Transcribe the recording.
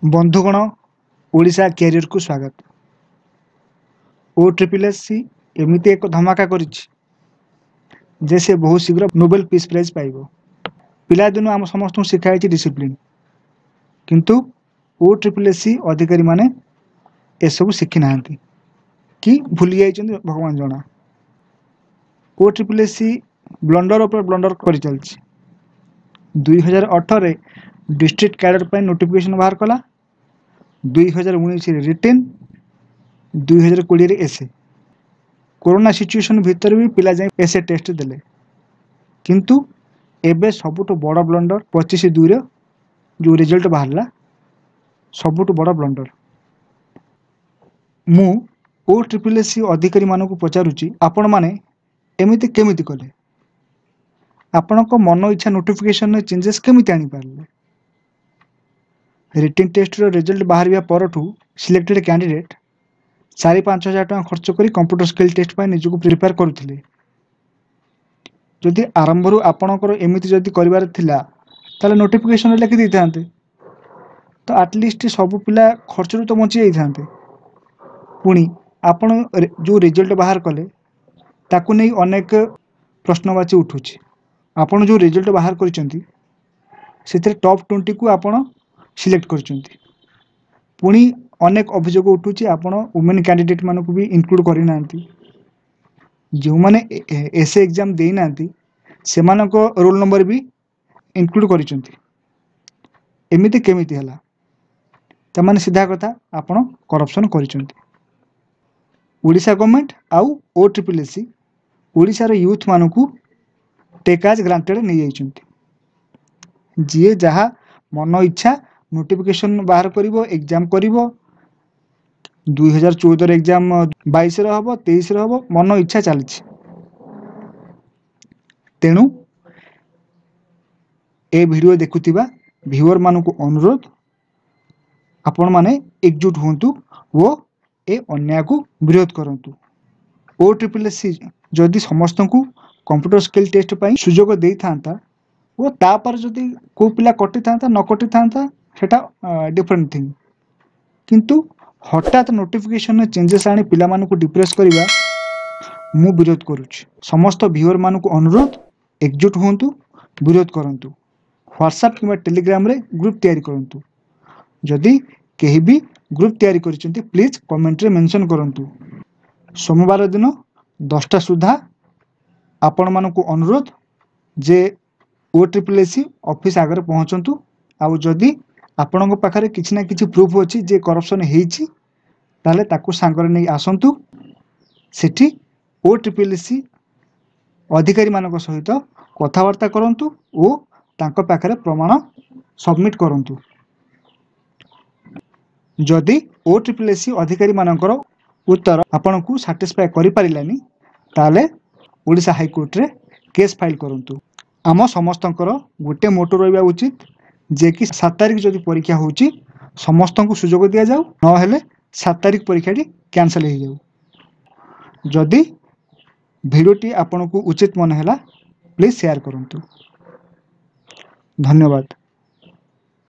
ବନ୍ଧୁଗଣ, ଓଡ଼ିଶା କ୍ୟାରିୟରକୁ ସ୍ୱାଗତ। ଓ triple S C ଏମିତି ଏକ ଧମାକା କରିଛି ଯେ ସେ ବହୁତ ଶୀଘ୍ର ନୋବେଲ ପିସ୍ ପ୍ରାଇଜ୍ ପାଇବ। ପିଲାଦିନୁ ଆମ ସମସ୍ତଙ୍କୁ ଶିଖା ହେଇଛି ଡିସିପ୍ଲିନ୍, କିନ୍ତୁ ଓ ଟ୍ରିପଲ୍ ଏସ୍ ସି ଅଧିକାରୀମାନେ ଏସବୁ ଶିଖି ନାହାନ୍ତି କି ଭୁଲି ଯାଇଛନ୍ତି, ଭଗବାନ ଜଣା। ଓ ଟ୍ରିପଲ୍ ଏସ୍ ସି ବ୍ଲଣ୍ଡର ଉପରେ ବ୍ଲଣ୍ଡର କରିଚାଲିଛି। 2018ରେ ଡିଷ୍ଟ୍ରିକ୍ଟ କ୍ୟାଡର ପାଇଁ ନୋଟିଫିକେସନ୍ ବାହାର କଲା, 2019ରେ ରିଟେନ୍, 2020ରେ ଏସ୍ଏ। କରୋନା ସିଚୁଏସନ୍ ଭିତରେ ବି ପିଲା ଯାଇ ଏସ୍ଏ ଟେଷ୍ଟ ଦେଲେ। କିନ୍ତୁ ଏବେ ସବୁଠୁ ବଡ଼ ବ୍ଲଣ୍ଡର 25/2ର ଯେଉଁ ରେଜଲ୍ଟ ବାହାରିଲା, ସବୁଠୁ ବଡ଼ ବ୍ଲଣ୍ଡର। ମୁଁ ଓ ଟ୍ରିପଲ୍ ଏସ୍ ସି ଅଧିକାରୀମାନଙ୍କୁ ପଚାରୁଛି, ଆପଣମାନେ ଏମିତି କେମିତି କଲେ? ଆପଣଙ୍କ ମନ ଇଚ୍ଛା ନୋଟିଫିକେସନରେ ଚେଞ୍ଜେସ୍ କେମିତି ଆଣିପାରିଲେ? ରିଟେନ୍ ଟେଷ୍ଟର ରେଜଲ୍ଟ ବାହାରିବା ପରଠୁ ସିଲେକ୍ଟେଡ୍ କ୍ୟାଣ୍ଡିଡେଟ୍ 4-5 ହଜାର ଟଙ୍କା ଖର୍ଚ୍ଚ କରି କମ୍ପ୍ୟୁଟର ସ୍କିଲ୍ ଟେଷ୍ଟ ପାଇଁ ନିଜକୁ ପ୍ରିପେୟାର କରୁଥିଲେ। ଯଦି ଆରମ୍ଭରୁ ଆପଣଙ୍କର ଏମିତି ଯଦି କରିବାର ଥିଲା, ତାହେଲେ ନୋଟିଫିକେସନରେ ଲେଖି ଦେଇଥାନ୍ତେ ତ ଆଟଲିଷ୍ଟ ସବୁ ପିଲା ଖର୍ଚ୍ଚରୁ ତ ବଞ୍ଚି ଯାଇଥାନ୍ତେ। ପୁଣି ଆପଣ ଯେଉଁ ରେଜଲ୍ଟ ବାହାର କଲେ, ତାକୁ ନେଇ ଅନେକ ପ୍ରଶ୍ନବାଚୀ ଉଠୁଛି। ଆପଣ ଯେଉଁ ରେଜଲ୍ଟ ବାହାର କରିଛନ୍ତି, ସେଥିରେ ଟପ୍ 20କୁ ଆପଣ ସିଲେକ୍ଟ କରିଛନ୍ତି। ପୁଣି ଅନେକ ଅଭିଯୋଗ ଉଠୁଛି, ଆପଣ ଓମେନ୍ କ୍ୟାଣ୍ଡିଡେଟ୍ ମାନଙ୍କୁ ବି ଇନକ୍ଲୁଡ଼ କରିନାହାନ୍ତି। ଯେଉଁମାନେ ଏସ୍ ଏ ଏକ୍ଜାମ୍ ଦେଇନାହାନ୍ତି, ସେମାନଙ୍କ ରୋଲ୍ ନମ୍ବର ବି ଇନକ୍ଲୁଡ଼ କରିଛନ୍ତି। ଏମିତି କେମିତି ହେଲା? ତାମାନେ ସିଧା କଥା, ଆପଣ କରପ୍ସନ୍ କରିଛନ୍ତି। ଓଡ଼ିଶା ଗଭର୍ଣ୍ଣମେଣ୍ଟ ଆଉ ଓ ଟ୍ରିପଲ୍ ଏସ୍ ସି ଓଡ଼ିଶାର ୟୁଥ୍ମାନଙ୍କୁ ଟେକ୍ ଆଜ୍ ଗ୍ରାଣ୍ଟେଡ଼ ନେଇଯାଇଛନ୍ତି। ଯିଏ ଯାହା ମନ ଇଚ୍ଛା ନୋଟିଫିକେସନ୍ ବାହାର କରିବ, ଏକ୍ଜାମ୍ କରିବ। 2014ର ଏକ୍ଜାମ୍ 22ରେ ହେବ, 23ରେ ହେବ, ମନ ଇଚ୍ଛା ଚାଲିଛି। ତେଣୁ ଏ ଭିଡ଼ିଓ ଦେଖୁଥିବା ଭିଉଅରମାନଙ୍କୁ ଅନୁରୋଧ, ଆପଣମାନେ ଏକଜୁଟ ହୁଅନ୍ତୁ ଓ ଏ ଅନ୍ୟାୟକୁ ବିରୋଧ କରନ୍ତୁ। ଓ ଟ୍ରିପଲ୍ ଏସ୍ ସି ଯଦି ସମସ୍ତଙ୍କୁ କମ୍ପ୍ୟୁଟର ସ୍କିଲ୍ ଟେଷ୍ଟ ପାଇଁ ସୁଯୋଗ ଦେଇଥାନ୍ତା ଓ ତାପରେ ଯଦି କେଉଁ ପିଲା କଟିଥାନ୍ତା ନ କଟିଥାନ୍ତା, ସେଟା ଡିଫରେଣ୍ଟ ଥିଙ୍ଗ। କିନ୍ତୁ ହଠାତ୍ ନୋଟିଫିକେସନରେ ଚେଞ୍ଜେସ୍ ଆଣି ପିଲାମାନଙ୍କୁ ଡିପ୍ରେସ୍ କରିବା ମୁଁ ବିରୋଧ କରୁଛି। ସମସ୍ତ ଭିଉଅରମାନଙ୍କୁ ଅନୁରୋଧ, ଏକଜୁଟ ହୁଅନ୍ତୁ, ବିରୋଧ କରନ୍ତୁ। ହ୍ୱାଟ୍ସଆପ୍ କିମ୍ବା ଟେଲିଗ୍ରାମରେ ଗ୍ରୁପ୍ ତିଆରି କରନ୍ତୁ। ଯଦି କେହି ବି ଗ୍ରୁପ୍ ତିଆରି କରିଛନ୍ତି, ପ୍ଲିଜ୍ କମେଣ୍ଟରେ ମେନସନ୍ କରନ୍ତୁ। ସୋମବାର ଦିନ 10ଟା ସୁଦ୍ଧା ଆପଣମାନଙ୍କୁ ଅନୁରୋଧ ଯେ ଓ ଟ୍ରିପଲ୍ ଏସ୍ ସି ଅଫିସ୍ ଆଗରେ ପହଞ୍ଚନ୍ତୁ। ଆଉ ଯଦି ଆପଣଙ୍କ ପାଖରେ କିଛି ନା କିଛି ପ୍ରୁଫ୍ ଅଛି ଯେ କରପ୍ସନ୍ ହେଇଛି, ତାହେଲେ ତାକୁ ସାଙ୍ଗରେ ନେଇ ଆସନ୍ତୁ। ସେଠି ଓ ଟ୍ରିପଲ୍ ଏସ୍ ସି ଅଧିକାରୀମାନଙ୍କ ସହିତ କଥାବାର୍ତ୍ତା କରନ୍ତୁ ଓ ତାଙ୍କ ପାଖରେ ପ୍ରମାଣ ସବମିଟ୍ କରନ୍ତୁ। ଯଦି ଓ ଟ୍ରିପଲ୍ ଏସ୍ ସି ଅଧିକାରୀମାନଙ୍କର ଉତ୍ତର ଆପଣଙ୍କୁ ସାଟିସ୍ଫାଏ କରିପାରିଲାନି, ତାହେଲେ ଓଡ଼ିଶା ହାଇକୋର୍ଟରେ କେସ୍ ଫାଇଲ୍ କରନ୍ତୁ। ଆମ ସମସ୍ତଙ୍କର ଗୋଟେ ମୋଟୋ ରହିବା ଉଚିତ ଯେ କି 7 ତାରିଖ ଯଦି ପରୀକ୍ଷା ହେଉଛି, ସମସ୍ତଙ୍କୁ ସୁଯୋଗ ଦିଆଯାଉ, ନହେଲେ 7 ତାରିଖ ପରୀକ୍ଷାଟି କ୍ୟାନସଲ୍ ହେଇଯାଉ। ଯଦି ଭିଡ଼ିଓଟି ଆପଣଙ୍କୁ ଉଚିତ ମନେ ହେଲା, ପ୍ଲିଜ୍ ସେୟାର କରନ୍ତୁ। ଧନ୍ୟବାଦ।